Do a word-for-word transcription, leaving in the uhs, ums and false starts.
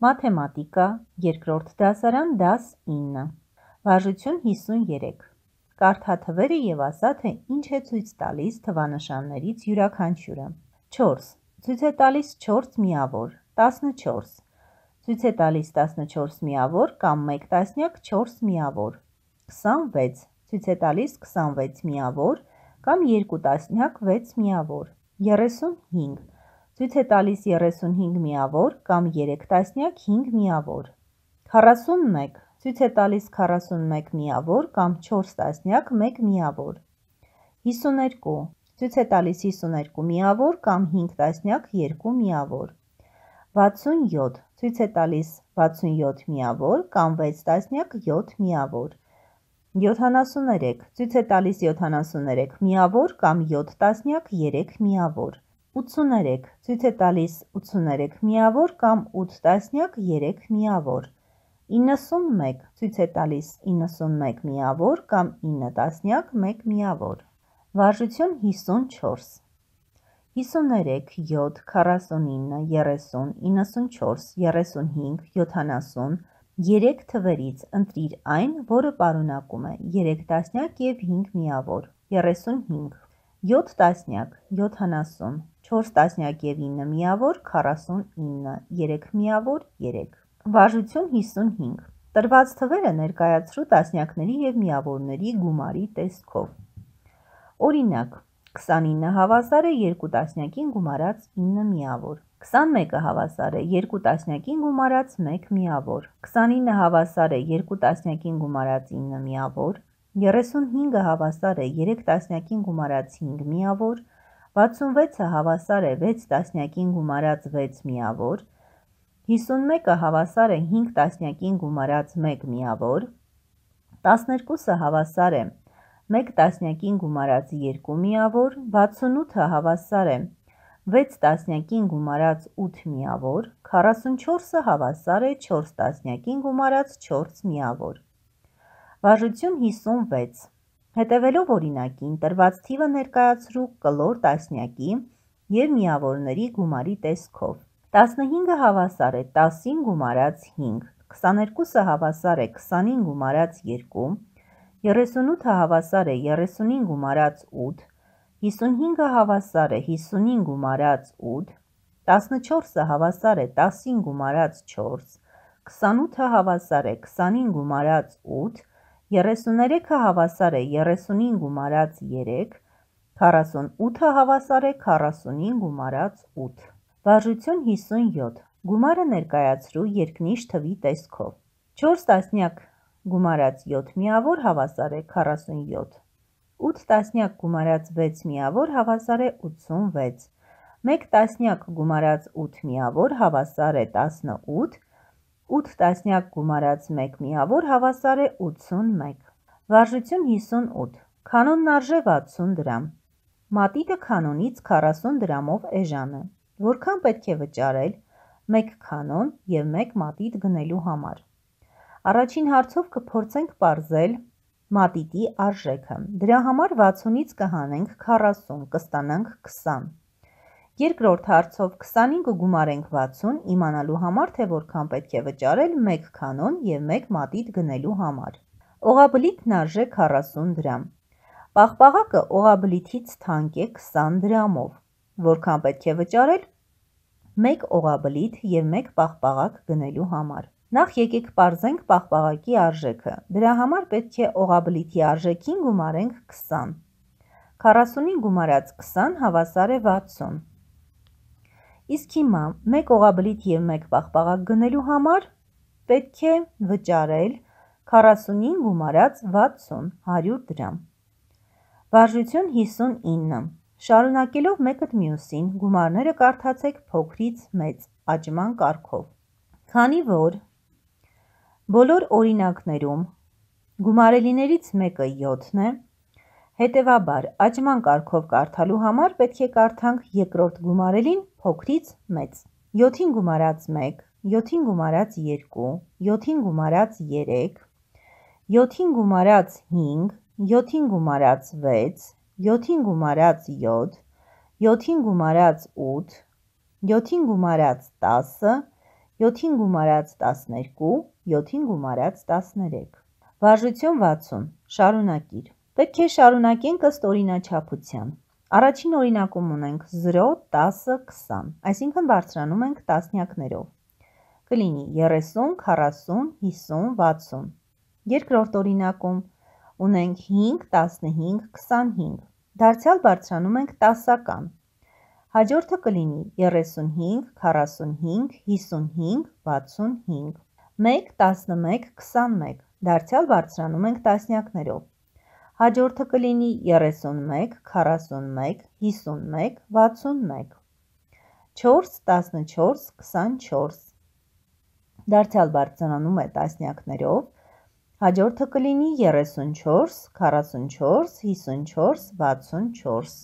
Մաթեմատիկա, երկրորդ դասարան, դաս ինը, վարժություն հիսունյերեք, կարդաթվերը և ասա, թե ինչ է ցույց տալիս թվանշաններից յուրաքանչյուրը, չորս, ցույց է տալիս չորս միավոր, տասնչորս, ցույց է տալիս տասնչորս միավոր կամ մեկ տասնյակ չորս միավոր, քսանվեց, ցույց է տալիս քսանվեց միավոր կամ երկու տասնյակ վեց միավոր, երեսունհինգ, ցույց է տալիս երեսունհինգ միավոր կամ երեք տասնյակ հինգ միավոր, քառասունմեկ, ցույց է տալիս քառասունմեկ միավոր կամ չորս տասնյակ մեկ միավոր, հիսուներկու, ցույց է տալիս հիսուներկու միավոր կամ հինգ տասնյակ երկու միավոր, վաթսունյոթ, ցույց է տալիս վաթսունյոթ միավոր կամ վեց տասնյակ յոթ միավոր, յոթանասուներեք, ցույց է տալիս յոթանասուներեք միավոր կամ յոթ տասնյակ երեք միավոր, ութսուներեք, ցույց է տալիս ութսուներեք միավոր կամ ութ տասնյակ երեք միավոր, իննսունմեկ, ցույց է տալիս իննսունմեկ միավոր կամ ինը տասնյակ մեկ միավոր, վարժություն հիսունչորս, հիսուներեք, յոթ, քառասունինը, երեսուն, իննսունչորս, երեսունհինգ, յոթանասուն, երեք թվերից ընտրիր այն, որը պարունակում է երեք տասնյակ և հինգ միավոր, երեսունհինգ, յոթ տասնյակ, յոթանասուն, չորս տասնյակ և ինը միավոր, քառասունինը, երեք միավոր, երեք, վարժություն հիսունհինգ, տրված թվերը ներկայացրու տասնյակների և միավորների գումարի տեսքով, օրինակ, քսանինը հավասար է երկու տասնյակին գումարած ինը միավոր, քսանմեկը հավասար է երկու տասնյակին գումարած մեկ միավոր, քսանինը հավասար է երկու տասնյակին գումարած ինը միավոր, երեսունհինգը հավասար է երեք տասնյակին գումարած հինգ միավոր, վաթսունվեցը հավասար է վեց տասնյակին գումարած վեց միավոր, հիսունմեկը հավասար է հինգ տասնյակին գումարած մեկ միավոր, տասներկուսը հավասար է մեկ տասնյակին գումարած երկու միավոր, վաթսունութը հավասար է վեց տասնյակին գումարած ութ միավոր, քառասունչորսը հավասար է չորս տասնյակին գումարած չորս միավոր, վարժություն հիսունվեց, հետևելով օրինակին տրված թիվը ներկայացրու կլոր տասնյակի և միավորների գումարի տեսքով, տասնհինգը հավասար է տասին գումարած հինգ, քսաներկուսը հավասար է քսանին գումարած երկու, երեսունութը հավասար է երեսունին գումարած ութ, հիսունհինգը հավասար է հիսունին գումարած ութ, տասնչորսը հավասար է տասին գումարած չորս, քսանութը հավասար է քսանին գումարած ութ, երեսուներեքը հավասար է երեսունին գումարած երեք, քառասունութը հավասար է քառասունին գումարած ութ, վարժություն հիսունյոթ, գումարը ներկայացրու երկնիշ թվի տեսքով, չորս տասնյակ գումարած յոթ միավոր հավասար է քառասունյոթ, ութ տասնյակ գումարած վեց միավոր հավասար է ութսունվեց, մեկ տասնյակ գումարած ութ միավոր հավասար է տասնութ, ութ տասնյակ գումարած մեկ միավոր հավասար է ութսունմեկ, վարժություն հիսունութ, քանոնն արժե վաթսուն դրամ, մատիտը քանոնից քառասուն դրամով էժան է, որքան պետք է վճարել մեկ քանոն և մեկ մատիտ գնելու համար, առաջին հարցով կփորձենք պարզել մատիտի արժեքը, դրա համար վաթսունից կհանենք քառասուն, կստանանք քսան, երկրորդ հարցով քսանին կգումարենք վաթսուն իմանալու համար, թե որքան պետք է վճարել մեկ քանոն և մեկ մատիտ գնելու համար, օղաբլիթն արժե քառասուն դրամ, պաղպաղակը օղաբլիթից թանկ է քսան դրամով, որքան պետք է վճարել մեկ օղաբլիթ և մեկ պաղպաղակ գնելու համար, նախ եկեք պարզենք պաղպաղակի արժեքը, դրա համար պետք է օղաբլիթի արժեքին գումարենք քսան, քառասունին գումարած քսան հավասար է վաթսուն, իսկ հիմա մեկ օղաբլիթ և մեկ պաղպաղակ գնելու համար պետք է վճարել քառասունին գումարած վաթսուն, հարյուր դրամ, վարժություն հիսունինը, շարունակելով մեկըդ մյուսին գումարները կարդացեք փոքրից մեծ աճման կարգով, քանի որ բոլոր օրինակներում գումարելիներից մեկը յոթն է, հետևաբար աճման կարգով կարդալու համար պետք է կարդանք երկրորդ գումարելին փոքրից մեծ, յոթին գումարած մեկ, յոթին գումարած երկու, յոթին գումարած երեք, յոթին գումարած հինգ, յոթին գումարած վեց, յոթին գումարած յոթ, յոթին գումարած ութ, յոթին գումարած տասը, յոթին գումարած տասներկու, յոթին գումարած տասներեք։ Վարժություն վաթսուն, շարունակիր։ Պետք է շարունակենք ըստ օրինաչափության։ Առաջին օրինակում ունենք զրո, տասը, քսան, այսինքն բարձրանում ենք տասնյակներով։ Կլինի երեսուն, քառասուն, հիսուն, վաթսուն։ Երկրորդ օրինակում ունենք հինգ, տասնհինգ, քսանհինգ, դարձյալ բարձրանում ենք տասական։ Հաջորդը կլինի երեսունհինգ, քառասունհինգ, հիսունհինգ, վաթսունհինգ, մեկ, տասնմեկ, քսանմեկ, դարձյալ բարձրանում ենք տասնյակներով։ Հաջորդը կլինի երեսունմեկ, քառասունմեկ, հիսունմեկ, վաթսունմեկ, չորս, տասնչորս, քսանչորս, դարձյալ բարձրանում է տասնյակներով։ Հաջորդը կլինի երեսունչորս, քառասունչորս, հիսունչորս, վաթսունչորս։